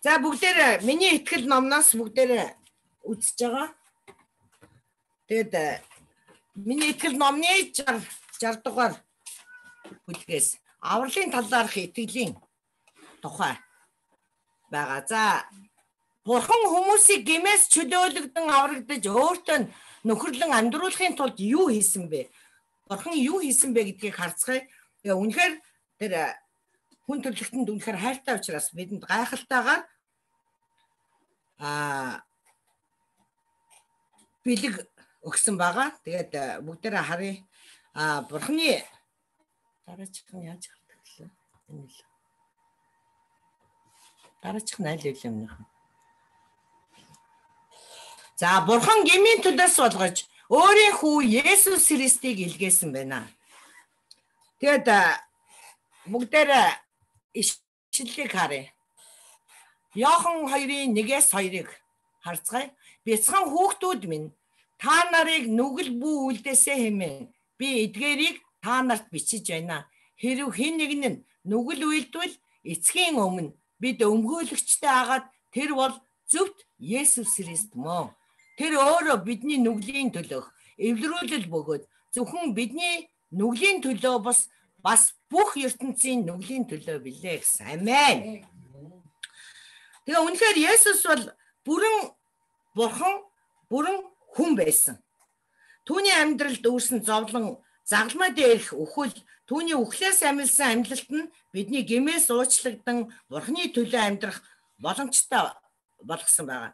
За бүгдээр миний итгэл номноос бүгдээр үзэж байгаа. Тэгээд миний итгэл номны 60 дугаар бүлгээс авралын талаарх итгэлийн тухай байгаа. За Бурхан хүмүүсийг гэмээс чөлөөлөгдөн аврагдаж өөртөө нөхөрлөн амьдруулахын тулд юу хийсэн бэ? Бурхан юу хийсэн бэ гэдгийг харцгаая. Тэгээ үнэхээр тэр хүн төрлөختөнд үнэхээр хайртай учраас бидэнд гайхалтайгаар бэлэг өгсөн байгаа. Тэгээд бүгдээрээ харъя. Бурханы дараачихын яаж хардаг лээ? Энэ л. Дараачих нь аль юм нөх. За Бурхан гмийн төлөөс болгож өөрийн хүү Есүс Христийг илгээсэн байна. Тэгээд бүгдээрээ ишлэлийг харъя. Иохан 2:1-2-ыг харцгаая. Бяцхан хүүхдүүд минь та нарыг нүгэл бүү үлдээсэ хэмээн би эдгээрийг та нарт бичиж байна. Хэрв хэн нэг нь нүгэл үйлдвэл эцгийн өмнө бид өмгөөлөгчтэй агаад тэр бол зөвхт Есүс Христ мөн. Тэр өөрөө бидний нүглийн төлөөх эвлэрүүлэл бөгөөд зөвхөн бидний нүглийн төлөө бас бүх ертөнцийн нүглийн төлөө билээ гэсэн. Амен. Тэгээ үнэхээр Есүс бол бүрэн Бурхан, бүрэн хүн байсан. Түүний амьдралд үүрсэн зовлон, загалмай дээрх үхэл, түүний үхлээс амилсан амьдлалт нь бидний гэмээс уучлагдсан Бурханы төлөө амьдрах боломжтой болгосон байгаа.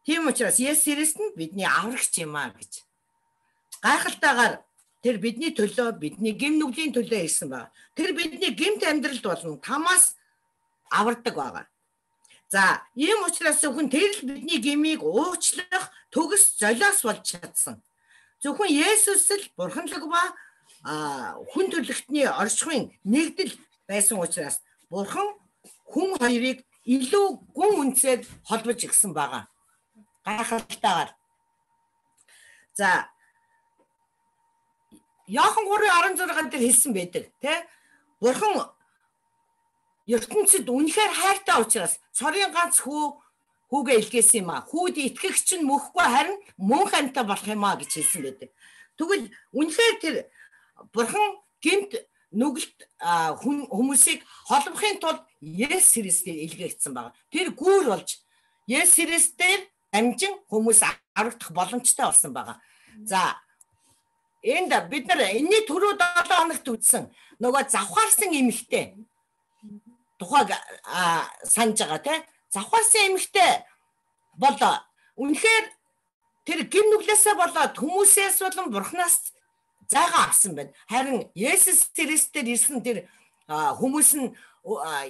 Тийм учраас Есүс Христ нь бидний аврагч юм аа гэж. Гайхалтайгаар тэр бидний төлөө, бидний гэм нүглийн төлөө ирсэн байна. Тэр бидний гэмт амьдралд болон тамаас авардаг байгаа. За, ийм учраас зөвхөн тэр л бидний гэмийг уучлах төгс золиос болж чадсан. Зөвхөн Есүс л бурханлаг ба хүн төрлөختний оршихуйн нэгдэл байсан учраас Бурхан хүн хоёрыг илүү гүн үнцээр холбож ирсэн байгаа. Гайхалтайгаар. За Иохан 3:16 дээр хэлсэн байдаг, тий? Бурхан ертөнцид үнэхээр хайртай учраас цорын ганц хүүгээ илгээсэн юм аа. Хүүд итгэгч нь мөхгүй харин мөн хантай болох юм аа гэж хэлсэн байдаг. Тэгвэл үнэхээр тэр Бурхан гэмт нүгэлт хүмүүсийг холбохын тулд Есүс Христийг илгээгдсэн байгаа. Тэр гүүр болж Есүс Христээр дамжин хүмүүс аврагдах боломжтой болсон байгаа. За энд бид нар энэний түрүү 7 хоногт үзсэн нөгөө завхаарсан эмэгтэй тухайг санаж байгаа тий. Завхаарсан эмэгтэй бол үнэхээр тэр гим нүглээсээ болоод хүмүүсээс болон Бурханаас зайгаа авсан байна. Харин Есүс Христээр ирсэн тэр хүмүүс нь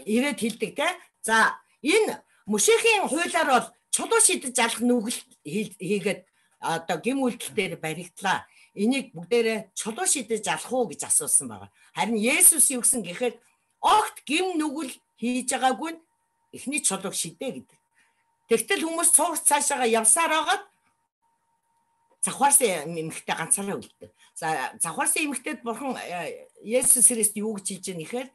ирээд хэлдэг тий. За энэ Мөшехийн хуулиар бол чулуу шидэж алах нүгэл хийгээд одоо гим үйлдэл дээр баригдлаа. Энийг бүгдээрээ чулуу шидэж алах уу гэж асуусан байгаа. Харин Есүс юу гэсэн гэхээр огт гим нүгэл хийж байгаагүй эхний чулууг шидэ гэдэг. Тэгтэл хүмүүс цуугц цаашаага явсаар байгаад завхаарсан эмэгтэй ганцаараа үлдээ. За завхаарсан эмэгтэйд Бурхан Есүс Христ юу гэж хэлж байгаа нэхэр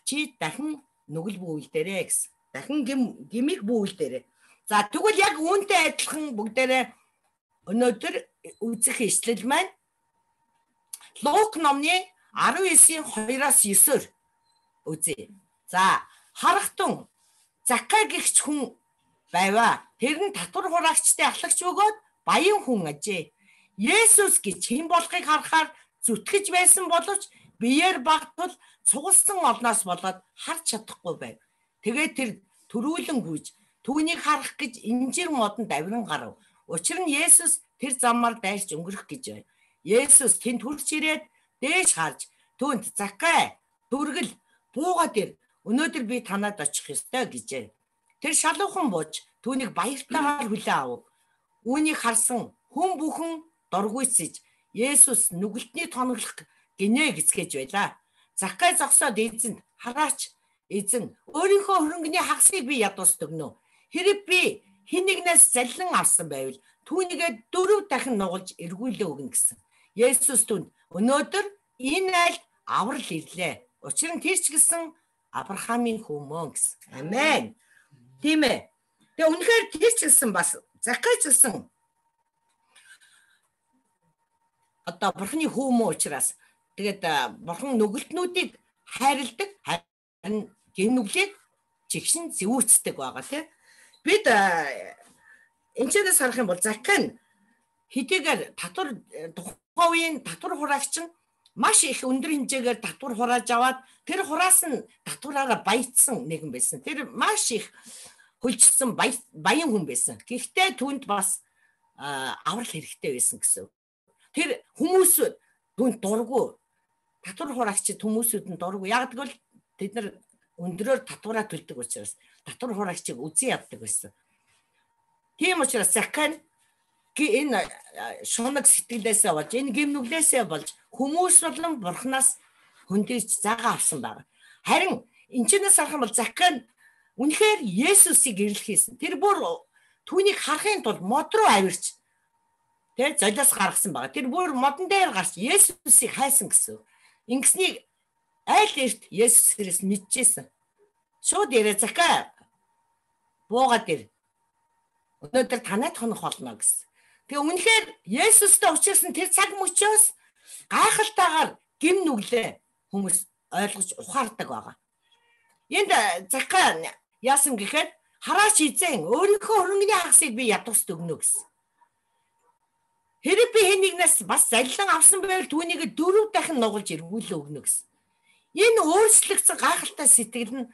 чи дахин нүгэл бүүлдээрэй гэсэн. Дахин гимиг бүүлдээрэй. За тэгвэл яг үүнтэй адилхан бүгдээрээ өнөөдөр үзэх ишлэл маань Лук номны 19:2-9-оор үзье. За харахтун Закай гэгч хүн байваа. Тэр нь татвар хураагчтай ахлагч бөгөөд баян хүн ажээ. Есүс гэж хэн болохыг харахаар зүтгэж байсан боловч биеэр багтвал цугулсан олноос болоод харж чадахгүй байв. Тэгээд тэр төрүүлэн гүйж түүнийг харах гэж инжир модонд авиран гарав. Учир нь Есүс тэр замаар дайрч өнгөрөх гэж байв. Есүс тэнд хурж ирээд дээш харж түүнд Закай дүргэл буугаад ир. Өнөөдөр би танад очих ёстой гэжээ. Тэр шалуухан бууж түүнийг баяртайгаар хүлээн авав. Үүнийг харсан хүн бүхэн дургуйсэж Есүс нүгэлтний тоноглох гинэ гэцгээж байлаа. Закай зогсоод эзэнд хараач эзэн өөрийнхөө хөрөнгөний хагасыг би ядуус төгнө. Хэрэг би хэн нэгнээс заллин авсан байвал түүнийгээ 4 дахин нугалж эргүүлээ өгнө гэсэн. Есүс түнд өнөөдөр энэ айлд аврал ирлээ. Учир нь тэр ч гэсэн Авраамийн хүү мөн гэсэн. Амен. Тийм ээ. Тэгээ үнэхээр тэр ч гэсэн бас Закай ч гэсэн одоо бурхны хүү мөн учраас тэгээд бурхан нүгэлтнүүдийг хайрладаг, харин гэмнүглийг чигшин зэвүүцдэг байгаа тийм. Бид энэчнээс харах юм бол Закай хэдийгээр татвар тухайн үеийн татвар хураагч нь маш их өндөр хэмжээгээр татвар хурааж аваад тэр хураас нь татвараараа баяцсан нэгэн байсан. Тэр маш их хөлжсөн баян хүн байсан. Гэхдээ түүнд бас аврал хэрэгтэй байсан гэсэн. Тэр хүмүүс түүнд дурггүй. Татвар хураагчид хүмүүсүүд нь дурггүй. Яг гэвэл тэд нар өндрөөр татвараа төлдөг учраас татвар хураагчийг үзэн яддаг байсан. Тийм учраас Закай энэ шунаг сэтгэлээсээ болж энэ гэмнүглээсээ болж хүмүүс болон бурхнаас хөндийж загаа авсан байна. Харин энэчнээс харах юм бол Закай үнэхээр Есүсийг эрлэхээсэн. Тэр бүр түүнийг харахын тулд мод руу авирч тэр золиос гаргасан байна. Тэр бүр модон дээр гарч Есүсийг хайсан гэсэн. Ингэснийг айл эрт Есүс Христ мэдчихсэн. Шууд ярэ Закай буугаад ир. Өнөөдөр танайд хонох болно гэсэн. Тэгээ үнэхээр Есүстэй уулзсан тэр цаг мөчөөс гайхалтайгаар гим нүглээ хүмүүс ойлгож ухаардаг байгаа. Энд Закай яасан гэхээр хараач эзэн өөрийнхөө хөрөнгөний хагасыг би ядуусд өгнө гэсэн. Хэрэг би хэнийгнээс бас залилан авсан байвал түүнийг 4 дахин нугалж эргүүлээ өгнө гэсэн. Энэ өөрчлөгдсөн гайхалтай сэтгэл нь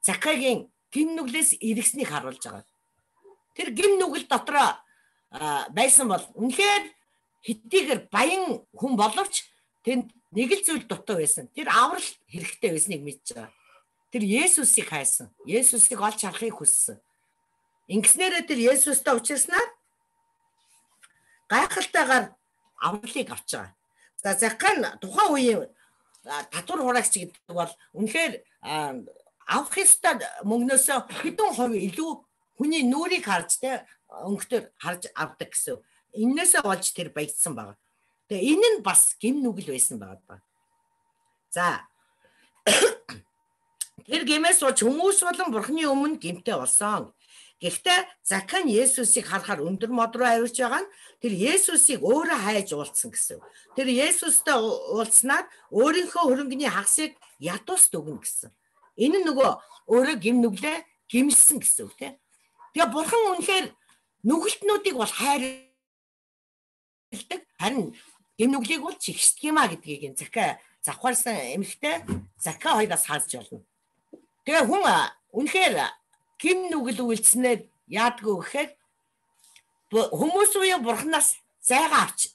Закайгийн гим нүглээс эргэснийг харуулж байгаа. Тэр гим нүгэл дотроо байсан бол үнэхээр хэдийгээр баян хүн боловч тэнд нэг л зүйл дутуу байсан. Тэр аврал хэрэгтэй байсныг мэдж байгаа. Тэр Есүсийг хайсан. Есүсийг олж харахыг хүссэн. Ингэснээрээ тэр Есүстэй уулзснаар гайхалтайгаар авралыг авч байгаа. За Закай тухайн үеийн татвар хураагч гэдэг бол үнэхээр авах ёстой мөнгнөөсөө хэдэн хувь илүү хүний нүрийг харж тэ өнгөтөр харж авдаг гэсэн. Иннээсээ болж тэр баяжсан байгаа. Тэгээ энэ нь бас гим нүгэл байсан байгаа. За тэр гимээс болж хүмүүс болон бурхны өмнө гимтэй болсон. Гэхдээ Закай Есүсийг харахаар өндөр мод руу авирч байгаа нь тэр Есүсийг өөрөө хайж уулзсан гэсэн. Тэр Есүстэй уулзнаар өөрийнхөө хөрөнгөний хагасыг ядуусд өгнө гэсэн. Энэ нөгөө өөрөө гим нүглээ гимсэн гэсэн үг тийм. Тэгээ бурхан үнэхээр нүгэлтнүүдийг бол хайрладаг, харин гим нүглийг бол чигшдэг юм а гэдгийг энэ Закай завхаарсан эмэгтэй Закай хоёроос хааж болно. Тэгээ хүн үнэхээр гим нүгэл үйлснээр яадгүй гэхээр хүмүүс үе бурханаас зайгаа авч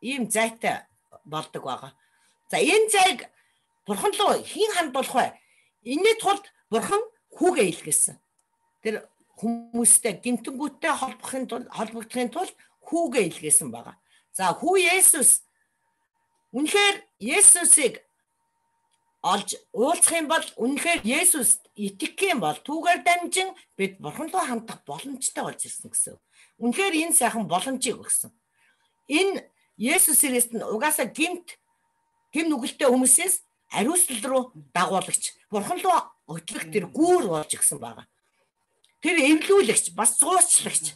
ийм зайтай болдог байгаа. За энэ зайг бурхан руу хэн хандуулах вэ? Энэний тулд бурхан хүүгээ илгээсэн. Тэр хүмүүстэй гинтэнгүүттэй холбогдохын тулд хүүгээ илгээсэн байгаа. За хүү Есүс үнэхээр Есүсийг олж уулзах юм бол үнэхээр Есүст итгэх юм бол түүгээр дамжин бид бурхан руу хандах боломжтой болж ирсэн гэсэн. Үнэхээр энэ сайхан боломжийг өгсөн. Энэ Есүс Христ нь угаасаа гим нүгэлтэй хүмүүсээс ариуслал руу дагуулагч, бурхан руу өтлөх тэр гүүр болж ирсэн байгаа. Тэр эвлүүлэгч, бас зуучлагч.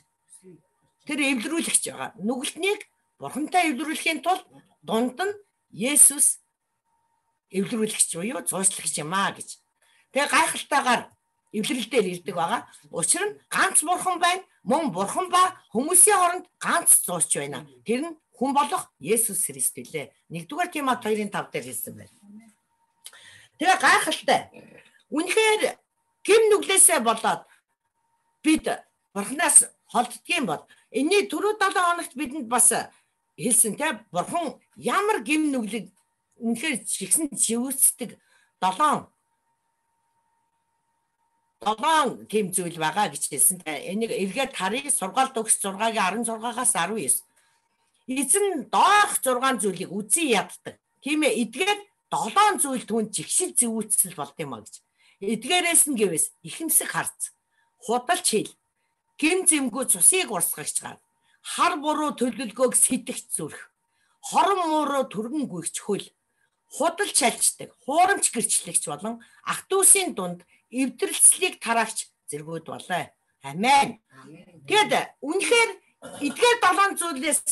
Тэр эвлэрүүлэгч байгаа. Нүгэлтнийг бурхантай эвлэрүүлэхийн тулд дунд нь Есүс эвлэрүүлэгч буюу зуучлагч юм аа гэж. Тэгээ гайхалтайгаар эвлэрэлдээр ирдэг байгаа. Учир нь ганц бурхан байна. Мөн бурхан ба хүмүүсийн хооронд ганц зуучч байна. Тэр нь хүн болох Есүс Христ үлээ. 1-р Тимот 2:5 дээр хэлсэн байна. Тэгээ гайхалтай. Үнэхээр гим нүглээсээ болоод бид бурханаас холддгийн бол энэний түрүү 7 хоногт бидэнд бас хэлсэн те бурхан ямар гим нүглийг үнэхээр чигсэн живүүцдэг 7 тийм зүйл байгаа гэж хэлсэн. Энийг эргээд харъя. Сургаалт өгс 6-гийн 16-аас 19. Эзэн доох 6 зүйлийг үзий яддаг. Тийм ээ, эдгээр 7 зүйл түүнд жигшил зэвүүцэл болд юм а гэж. Эдгээрээс нь гэвээс ихэмсэг харц, худалч хэл, гим зэмгүй цусыг урсгагч гар, хар буруу төлөвлөгөөг сэтгэгч зүрх, хорон мууруу түргэн гүйгч хөл, худал чалждаг, хуурамч гэрчлэгч болон ах дүүсийн дунд эвдрэлцлийг тараагч зэргүүд болоо. Амен. Тэгэд үнэхээр эдгээр 7 зүйлээс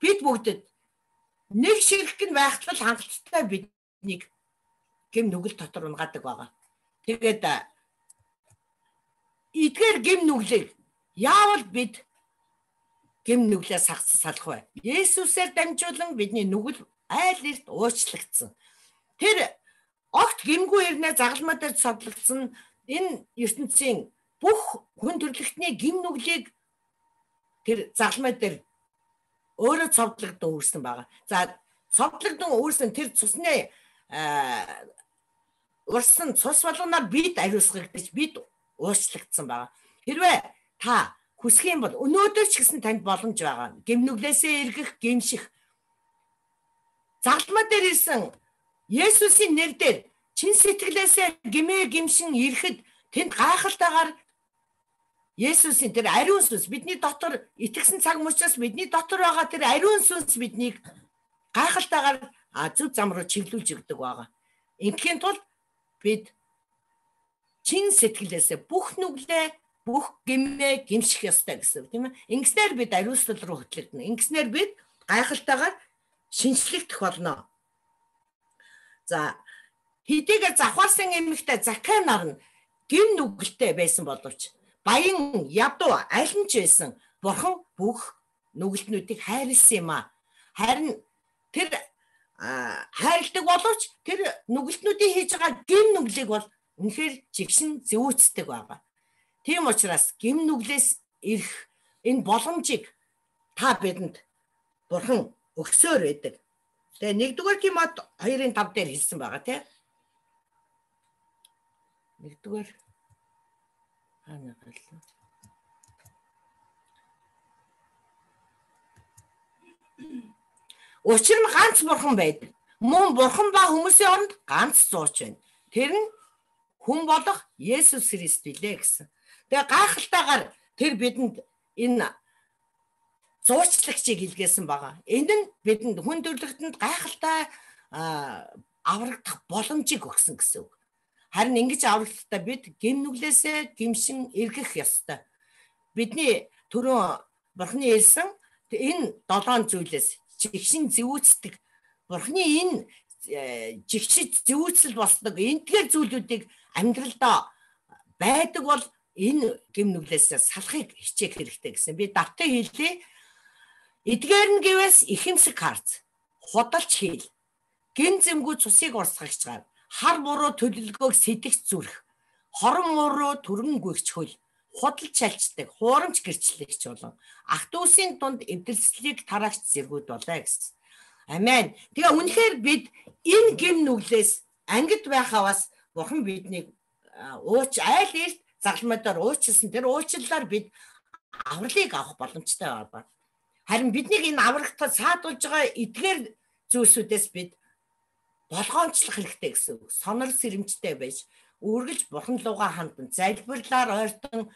бид бүгдэд нэг ширхэг нь байхтал хангалттай биднийг гэм нүгэл дотор унгадаг байгаа. Тэгээд эдгээр гэм нүглийг яавал бид гэм нүглээс салах вэ? Есүсээр дамжуулан бидний нүгэл айл эрт уучлагдсан. Тэр огт гэмгүй ирнэ загалмаа дээр цодлогдсон энэ ертөнцийн бүх хүн төрлөختний гэм нүглийг тэр загалмаа дээр өөрөө цовдлогдсон үүрсэн байгаа. За цовдлогдсон үүрсэн тэр цусны урсан цус болгоноор бид ариусгагдаж бид уучлагдсан байгаа. Хэрвээ та хүсэх юм бол өнөөдөр ч гэсэн танд боломж байгаа. Гэмнүглээсээ эргэх, гэмших. Загалмаа дээр ирсэн Есүсийн нэрээр чин сэтгэлээсээ гэмээ гэмшин ирэхэд тэнд гайхалтайгаар Есүсийн тэр ариун сүнс бидний дотор итгэсэн цаг мөчөөс бидний дотор байгаа тэр ариун сүнс биднийг гайхалтайгаар зөв зам руу чиглүүлж өгдөг байгаа. Ингээхийн тулд бид чин сэтгэлээсээ бүх нүглээ, бүх гэмээ гэмших ёстой гэсэн үг тийм ээ. Ингэснээр бид ариуслал руу хөтлөгдөнө. Ингэснээр бид гайхалтайгаар шинжлэхдэх болно. За хэдийгээр завхаарсан эмэгтэй Закхай нар нь гэм нүгэлтэй байсан боловч баян ядуу аль нь ч байсан бурхан бүх нүгэлтнүүдийг хайрлсан юм а. Харин тэр хайрладаг боловч тэр нүгэлтнүүдийн хийж байгаа гэм нүглийг бол үнэхээр жигшин зөөцдөг байгаа. Тийм учраас гэм нүглээс ирэх энэ боломжийг та бидэнд бурхан өгсөөр байдаг. Тэгээ 1-р Тимот 2:5 дээр хэлсэн байгаа тийм. 1-р Учир нь ганц бурхан байдаг. Мөн бурхан ба хүмүүсийн оронд ганц зууч байна. Тэр нь хүн болох Есүс Христ билээ гэсэн. Тэгээ гайхалтайгаар тэр бидэнд энэ зуучлагчийг илгээсэн байгаа. Энд нь бидэнд хүн төрлөختөнд гайхалтай аврагдах боломжийг өгсөн гэсэн үг. Харин ингэж аврагталтаа бид гэм нүглээсээ гэмшин эргэх ёстой. Бидний түрүүн бурхны хэлсэн энэ 7 зүйлээс жигшин зэвүүцдэг бурхны энэ жигшид зэвүүцэл болдог энэгээр зүйлүүдийг амьдралдаа байдаг бол энэ гэм нүглээсээ салахыг хичээх хэрэгтэй гэсэн. Би давтан хэлье. Эдгээр нь гэвээс ихэмсэг харц, худалч хийл, гин зэмгүй цусыг урсгагч гар, хар буруу төлөлгөөг сэтгч зүрх, хорон муруу түргэн гүйгч хөл, худал чалчдаг, хуурамч гэрчлэгч болон ах дүүсийн дунд эвдэрслийг тараагч зэргүүд болоо гэсэн. Амен. Тэгээ үнэхээр бид энэ гэм нүглээс ангид байхаваас бурхан биднийг айл эрт загалмайдаар уучлсан. Тэр уучлалаар бид авралыг авах боломжтой байна. Харин биднийг энэ аврагтад саадуулж байгаа эдгээр зүйлсүүдээс бид болгоомжлох хэрэгтэй гэсэн үг. Сонор сэрэмжтэй байж, үргэлж бурхан лугаа хандан, залбирлаар ойртон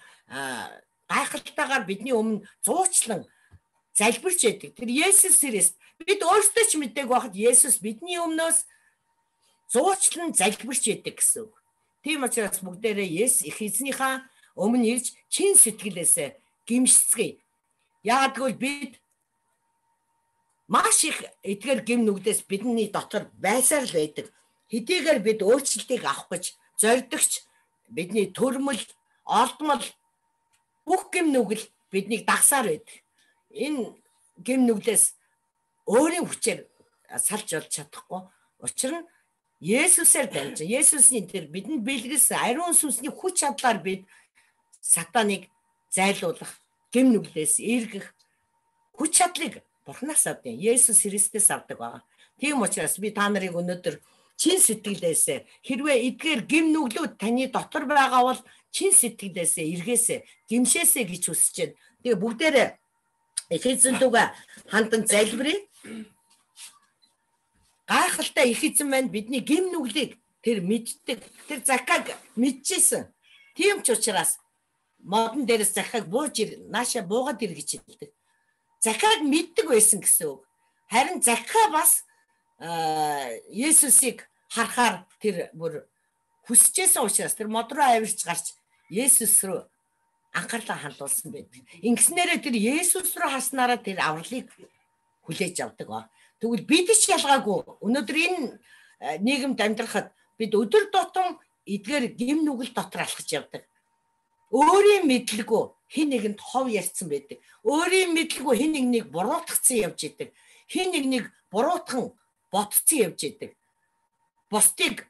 гайхалтайгаар бидний өмнө зуучлан залбирч байдаг. Тэр Есүс Христ бид өөрсдөө ч мэдээг байхад Есүс бидний өмнөөс зуучлан залбирч байдаг гэсэн үг. Тийм учраас бүгдээрээ эзнийхээ өмнө ирж чин сэтгэлээсээ гимшицгээе. Яагад гэвэл бид маш их эдгээр гэм нүглээс бидний дотор байсаар л байдаг. Хэдийгээр бид өөрчлөлтийг авах гэж зордогч бидний төрмөл, олдмол бүх гэм нүгэл биднийг дагсаар байдаг. Энэ гэм нүглээс өөрийн хүчээр салж болж чадахгүй. Учир нь Есүсээр дамжин, Есүсийн тэр бидэнд бэлгэлсэн ариун сүнсний хүч чадлаар бид сатаныг зайлуулах, гэм нүглээс эргэх хүч чадлыг бурхнаас авдаг. Есүс Христээс авдаг байгаа. Тийм учраас би та нарыг өнөөдөр чин сэтгэлээсээ хэрвээ эдгээр гэм нүглүүд таны дотор байгаа бол чин сэтгэлээсээ эргээсээ гимшээсээ гэж хүсэж байна. Тэгээ бүгдээрээ Эфесийн дүүгээ хандан залбирая. Гайхалтай их эзэн маань бидний гэм нүглийг тэр мэддэг. Тэр Закхайг мэдчихсэн. Тийм ч учраас модон дээрээс Закхайг бууж нааша буугаад ир гэж хэлдэг. Закхайг мэддэг байсан гэсэн үг. Харин Закхай бас Есүсийг харахаар тэр бүр хүсэжсэн учраас тэр мод руу авирч гарч Есүс рүү анхаарлаа хандуулсан байдаг. Ингэснээрээ тэр Есүс рүү хаснараа тэр авралыг хүлээж авдаг. Тэгвэл бид ч ялгаагүй. Өнөөдөр энэ нийгэмд амьдрахад бид өдөр тутам эдгээр гэм нүгэл дотор алхаж явдаг. Өөрийн мэдлгүй хэн нэгэнд хов ярьсан байдаг. Өөрийн мэдлгүй хэн нэгнийг буруутгацсан явж идэг. Хэн нэгнийг буруутхан ботцсон явж идэг. Бусдыг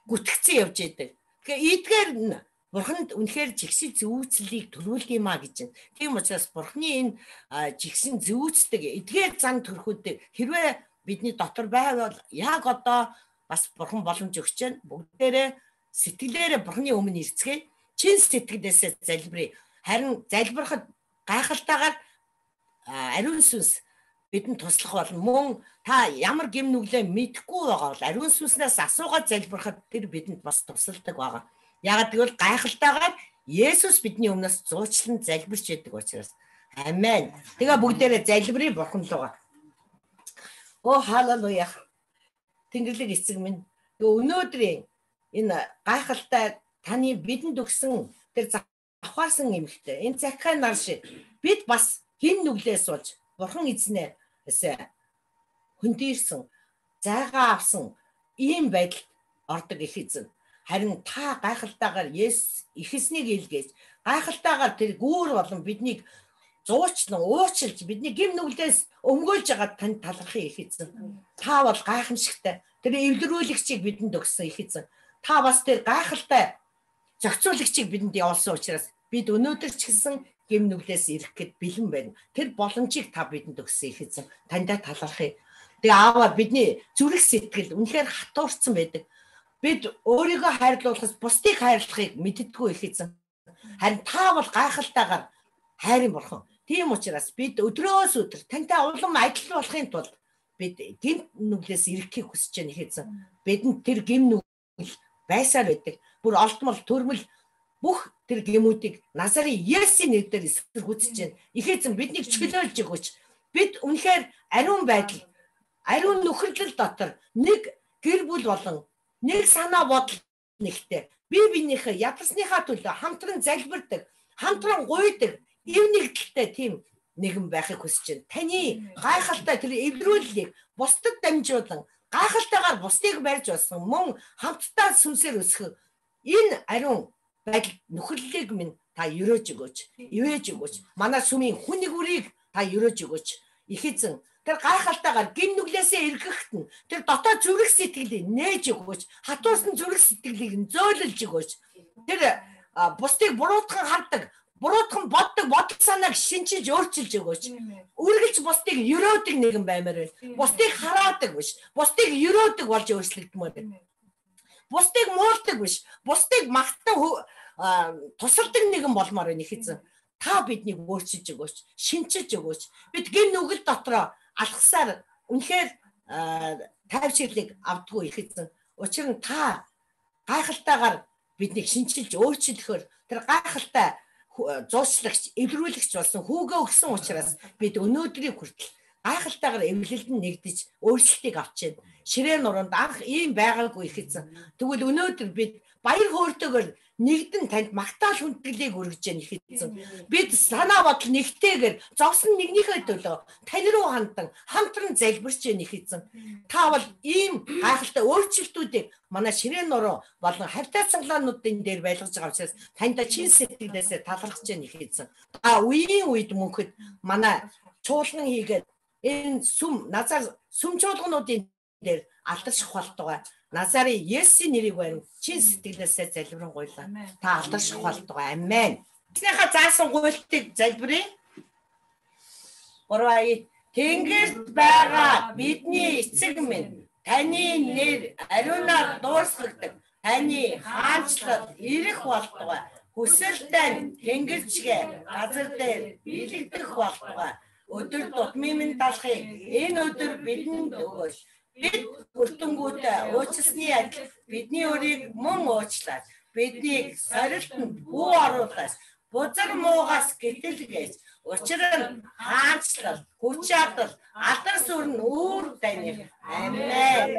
гүтгэцэн явж идэг. Тэгэхээр эдгээр нь Бурханд үнэхээр жигшин зүүцлийг төрүүлдэг юм а гэж байна. Тийм учраас Бурханы энэ жигшин зүүцдэг эдгээр зан төрхүүдийг хэрвээ бидний дотор байвал яг одоо бас Бурхан боломж өгч байна. Бүгдээрээ сэтгэлээрээ Бурханы өмнө ирцгээе. Чин сэтгэлээсээ залбирая. Харин залбирахад гайхалтайгаар ариун сүнс бидэнд туслах болно. Мөн та ямар гэм нүглээ мэдэхгүй байгаа бол ариун сүнснээс асуугаад залбирахад тэр бидэнд бас тусалдаг байгаа. Яагаад гэвэл гайхалтайгаар Есүс бидний өмнөөс зуучлан залбирч байдаг учраас. Амен. Тэгээ бүгдээрээ залбирая Бурхан руугаа. Оо халелуя. Тэнгэрлэг эцэг минь. Өнөөдрийн энэ гайхалтай таны бидэнд өгсөн тэр завхаарсан эмэгтэй. Энэ Закхай нар шиг бид бас хин нүглээ сууж Бурхан эзнээс хөндөрсөн, зайгаа авсан ийм байдалд ордог их эзэн. Харин та гайхалтайгаар ихэснийг илгээж, гайхалтайгаар тэр гүүр болон биднийг зуучлан, уучлж, бидний гэм нүглээс өмгөөлж байгаа танд талархах их эзэн. Та бол гайхамшигтай. Тэр эвлэрүүлэгчийг бидэнд өгсөн их эзэн. Та бас тэр гайхалтай зохицуулагчийг бидэнд явуулсан учраас бид өнөөдөр ч гэсэн гэм нүглээс ирэх гээд бэлэн байна. Тэр боломжийг та бидэнд өгсөн их эзэн. Таньдаа талархъя. Тэгээ ааваа бидний зүрх сэтгэл үнэхээр хатуурсан байдаг. Бид өөрийгөө хайрлуулахаас бусдыг хайрлахыг мэддэггүй их эзэн. Харин та бол гайхалтайгаар хайрын Бурхан. Тийм учраас бид өдрөөс өдөр тантай улам адил болохын тулд бид гэм нүглээс ирэхийг хүсэж байна их эзэн. Бидэнд тэр гэм нүгэл байсаар байдаг. Бүр олдмол төрмөл бүх тэр гэмүүдийг Назарын Есүсийн нэрээр эсэргүүцэж байна. Их эзэн биднийг чөлөөлж өгөөч. Бид үнэхээр ариун байдал, ариун нөхөрлөл дотор нэг гэр бүл болон нэг санаа бодол нэгтэй бие биенийхээ ядарсныхаа төлөө хамтран залбирдаг, хамтран гуйдаг, эв нэгдэлтэй тийм нэгэн байхыг хүсэж байна. Таны гайхалтай тэр эвдрүүллийг бусдад дамжуулан гайхалтайгаар бусдыг барьж болсон мөн хамтдаа сүнсээр өсгөх энэ ариун байдал нөхөрлөлийг минь та өрөөж өгөөч, ивэж өгөөч. Манай сүмийн хүн нэгүрийг та өрөөж өгөөч. Их эзэн тэр гайхалтайгаар гэм нүглээсээ эргэхт нь тэр дотоод зүрх сэтгэлийг нээж өгөөч. Хатуурсан зүрх сэтгэлийг зөөлөж өгөөч. Тэр бусдыг буруутхан хардаг, буруутхан боддог бодол санааг шинчилж өөрчилж өгөөч. Үргэлж бусдыг өрөөдөг нэгэн баймаар байна. Бусдыг хараадаг биш, бусдыг өрөөдөг болж өөрчлөгдмөр байна. Бусдыг муулдаг биш, бусдыг магтан тусалдаг нэгэн болмоор байна их эзэн. Та биднийг өөрчилж өгөөч, шинчилж өгөөч. Бид гэм нүгэл дотроо алхасаар үнэхээр тайвширлыг авдаггүй их эзэн. Учир нь та гайхалтайгаар биднийг шинчилж өөрчлөхөөр тэр гайхалтай зуучлагч, эвдрүүлэгч болсон хүүгээ өгсөн учраас бид өнөөдрийн хүртэл гайхалтайгаар эвлэлд нь нэгдэж өөрчлөлтийг авч байна. Ширээ нуруунд анх ийм байгаагүй их эзэн. Тэгвэл өнөөдөр бид баяр хөөртэйгээр нэгдэн танд магтаал хүндгэлийг өргөж яах их эзэн. Бид санаа бодол нэгтэйгээр зовсон нэгнийхээ төлөө тань руу хандан хамтран залбирч яах их эзэн. Та бол ийм гайхалтай өөрчлөлтүүдийг манай ширээ нуруу болон хавтаа цангалаануудын дээр байлгаж байгаа учраас танд чин сэтгэлээсээ талархаж яах их эзэн. Та үеийн үед мөнхөд манай чуулган хийгээд энэ назар сүм чуулгануудын дээр алдарших болтугай. Назарын Есүсийн нэрийг байна. Чин сэтгэлээсээ залбирanгуйлаа. Та алдарших болтугай. Амен. Эзнийхээ заасан гуйлтыг залбирая. Гурван Тэнгэрт байгаа бидний эцэг минь таны нэр ариунаар дуурсагдаг. Таны хаанчлал ирэх болтугай. Хүсэл тань тэнгэрчгээ газар дээр биелэгдэх болтугай. Өдөр тутмын минь талахыг энэ өдөр бидэнд өгөөч. Бид хүртэнгүүтээ уучлсны адил бидний өрийг мөн уучлаад биднийг сорилтонд бүү оруулаас бузар муугаас гэтэлгээж учир нь хаанчлал, хүч чадал, алдар сүр нь үүр тань. Амен.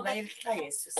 Баярлалаа Есүс.